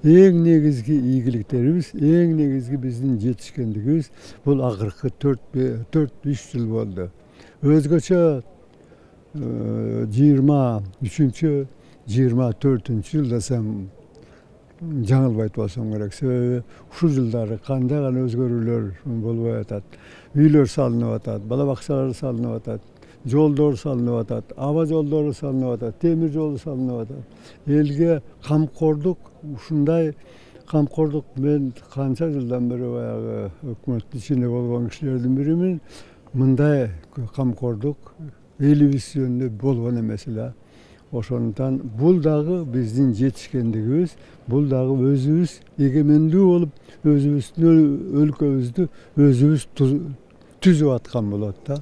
Эң негизги ийгиликтерибиз, эң негизги биздин жетишкендигибиз бул акыркы 4-5 жыл болду. Өзгөчө 23-24 жылда десем жаңылбайт болсом керек. Себеби ушул жылдары кандай гана өзгөрүүлөр болуп атат. Үйлөр салынып атат, бала бакчалар салынып атат, жолдор салынып атат, аба жолдору салынып атат, темир жол салынып атат. Элге камкордук, ушундай камкордук мен канча жылдан бери баягы өкмөттүн ичинде болгон кишилердин биримин. Мындай камкордук элибиз жөнүндө болгон эмес эле. Ошондуктан бул дагы биздин жетишкендигибиз, бул дагы өзүбүз эгемендүү болуп, өзүбүздүн өлкөбүздү өзүбүз түзүп аткан болот да.